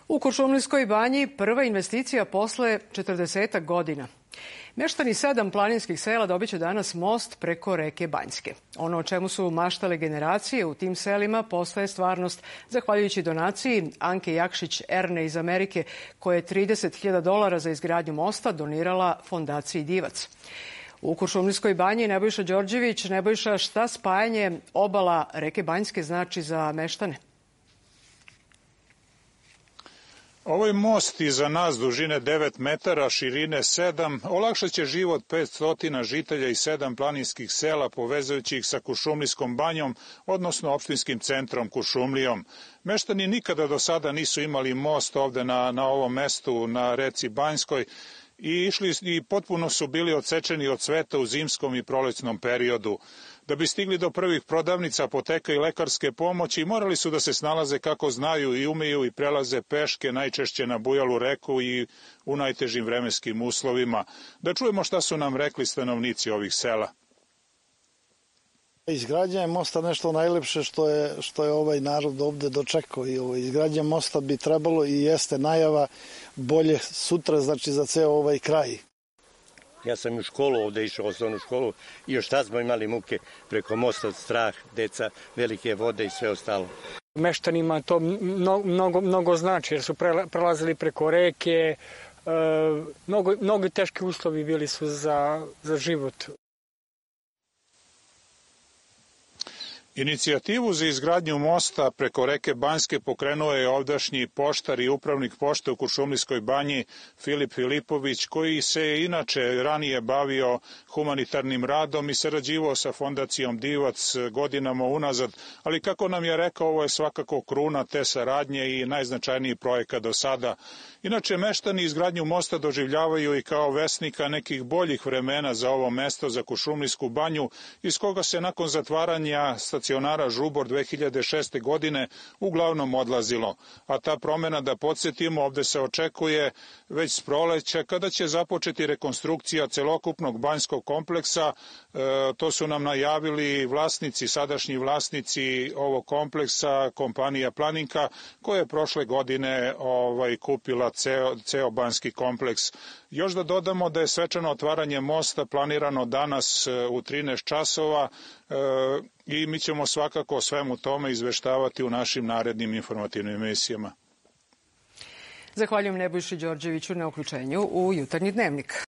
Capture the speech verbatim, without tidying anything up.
U Kuršumlijskoj banji prva investicija posle četrdesetak godina. Meštani sedam planinskih sela dobit će danas most preko reke Banjske. Ono o čemu su maštale generacije u tim selima postaje stvarnost zahvaljujući donaciji Anke Jakšić-Erne iz Amerike, koja je trideset hiljada dolara za izgradnju mosta donirala fondaciji Divac. U Kuršumlijskoj banji Nebojša Đorđević. Nebojša, šta spajanje obala reke Banjske znači za meštane? Ovaj most iza nas dužine devet metara, širine sedam, olakšat će život petsto žitelja i sedam planinskih sela povezujući ih sa Kuršumlijskom banjom, odnosno opštinskim centrom Kuršumlijom. Meštani nikada do sada nisu imali most ovde na, na ovom mestu na reci Banjskoj i išli i potpuno su bili odsečeni od sveta u zimskom i prolećnom periodu. Da bi stigli do prvih prodavnica, apoteka i lekarske pomoći, morali su da se snalaze kako znaju i umeju i prelaze peške, najčešće na bujalu reku i u najtežim vremenskim uslovima. Da čujemo šta su nam rekli stanovnici ovih sela. Izgradnja je mosta nešto najlepše što je, što je ovaj narod ovde dočekao i ovo, izgradnja mosta bi trebalo i jeste najava bolje sutra, znači za ceo ovaj kraj. Ja sam u školu ovde išao, osnovnu školu, i još tad smo imali muke preko mosta, strah, deca, velike vode i sve ostalo. Meštanima to mnogo, mnogo znači jer su prelazili preko reke, mnogo, mnogo teški uslovi bili su za, za život. Inicijativu za izgradnju mosta preko reke Banjske pokrenuo je ovdašnji poštar i upravnik pošte u Kuršumlijskoj banji Filip Filipović, koji se je inače ranije bavio humanitarnim radom i sarađivao sa fondacijom Divac godinama unazad, ali kako nam je rekao, ovo je svakako kruna te saradnje i najznačajniji projekat do sada. Inače, meštani izgradnju mosta doživljavaju i kao vesnika nekih boljih vremena za ovo mesto, za Kuršumlijsku banju, iz koga se nakon zatvaranja stacionara Žubor dve hiljade šeste. godine uglavnom odlazilo. A ta promena, da podsjetimo, ovde se očekuje već s proleća, kada će započeti rekonstrukcija celokupnog banjskog kompleksa. E, to su nam najavili vlasnici, sadašnji vlasnici ovog kompleksa, kompanija Planinka, koja je prošle godine ovaj, kupila ceo, ceo banjski kompleks. Još da dodamo da je svečano otvaranje mosta planirano danas u trinaest časova e, i mi ćemo svakako o svemu tome izveštavati u našim narednim informativnim emisijama. Zahvaljujem Nebojši Đorđeviću na uključenju u Jutarnji dnevnik.